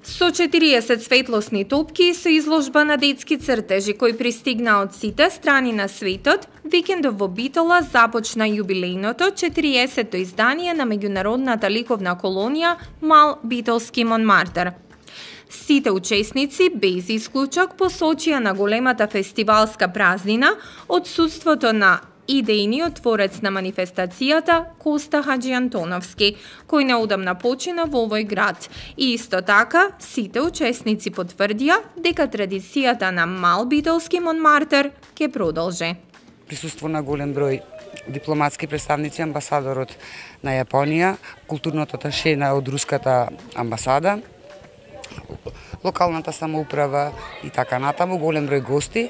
Со 40 светлосни топки со изложба на детски цртежи кои пристигна од сите страни на светот, викендов во Битола започна јубилејното 40-то издание на меѓународната ликовна колонија Мал битолски Монмартр. Сите учесници, без исклучок, посочија на големата фестивалска празнина отсуството на идејниот творец на манифестацијата Коста Хаџиантоновски, кој неодамна почина во овој град. И исто така, сите учесници потврдија дека традицијата на Мал битолски Монмартр ќе продолжи. Присуство на голем број дипломатски представници, амбасадорот на Јапонија, културното аташе од руската амбасада, локалната самоуправа и така натаму, голем број гости.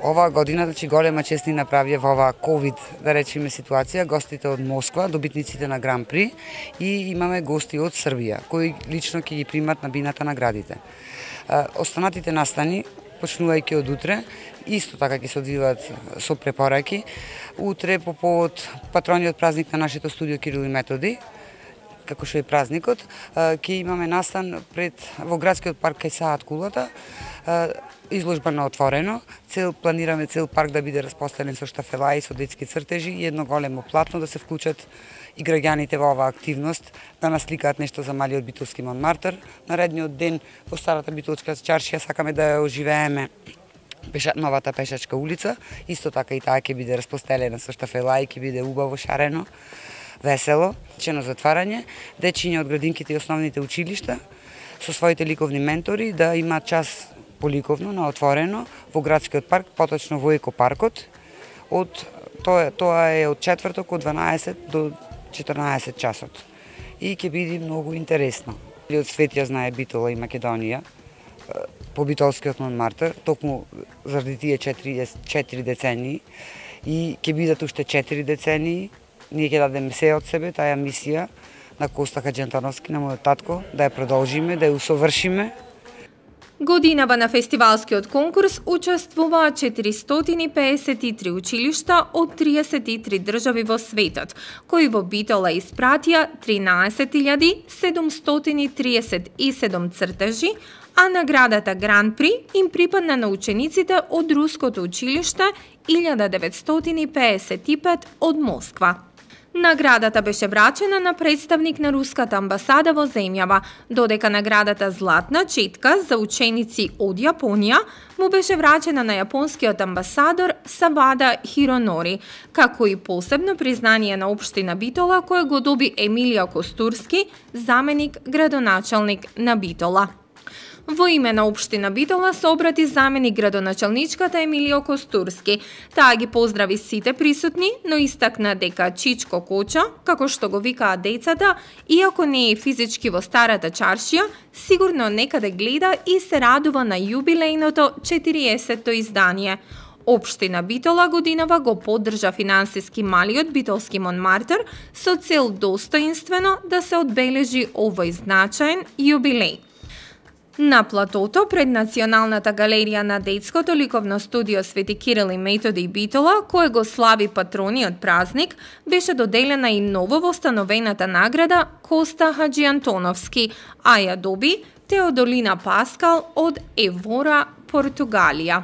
Оваа година, голема чест ни направија во оваа ковид, да речеме, ситуација, гостите од Москва, добитниците на Гран При, и имаме гости од Србија, кои лично ќе ги примат на бината наградите. Останатите настани, почнувајќи од утре, исто така ќе се одвиваат со препораки. Утре по повод патрониот празник на нашето студио Кирил и Методи, како што е празникот, ќе имаме настан во градскиот парк кај Саат Кулата, изложба на отворено. Планираме цел парк да биде распоставен со штафелаи, со детски цртежи и едно големо платно да се вклучат и граѓаните во оваа активност, да насликаат нешто за малиот битолски Монмартр. Наредниот ден во старата битолска чаршија сакаме да ја оживееме новата пешачка улица, исто така и таа ќе биде распостелена со штафелаи, ќе биде убаво, шарено, весело, чено затварање, дечиња од градинките и основните училишта со своите ликовни ментори да имаат час поликовно на отворено во градскиот парк, поточно во екопаркот. Тоа е од четврток од 12 до 14 часот. И ќе биде многу интересно. Од свет ја знае Битола и Македонија по битолскиот Монмартр, токму заради тие 4 децении, и ќе бидат уште 4 децении. Ние ќе дадеме се од себе, таа мисија на Коста Хаџиантоновски, на мојот татко, да ја продолжиме, да ја усовршиме. Годинава на фестивалскиот конкурс учествуваа 453 училишта од 33 држави во светот, кои во Битола испратија 13.737 цртежи, а наградата Гран При им припадна на учениците од Руското училиште 1955 од Москва. Наградата беше врачена на представник на руската амбасада во земјава, додека наградата Златна четка за ученици од Јапонија му беше врачена на јапонскиот амбасадор Савада Хиронори, како и посебно признание на општина Битола кое го доби Емилија Костурски, заменик градоначалник на Битола. Во име на општина Битола се обрати заменик градоначалничката Емилио Костурски. Таа ги поздрави сите присутни, но истакна дека Чичко Коча, како што го викаат децата, иако не е физички во старата чаршија, сигурно некаде гледа и се радува на јубилејното 40-то издание. Општина Битола годинава го поддржа финансиски малиот битолски Монмартр со цел достоинствено да се одбележи овој значаен јубилеј. На платото пред Националната галерија на детското ликовно студио Свети Кирил и Методи Битола, кое го слави патрониот празник, беше доделена и ново востановената награда Коста Хаџиантоновски, а ја доби Теодолина Паскал од Евора, Португалија.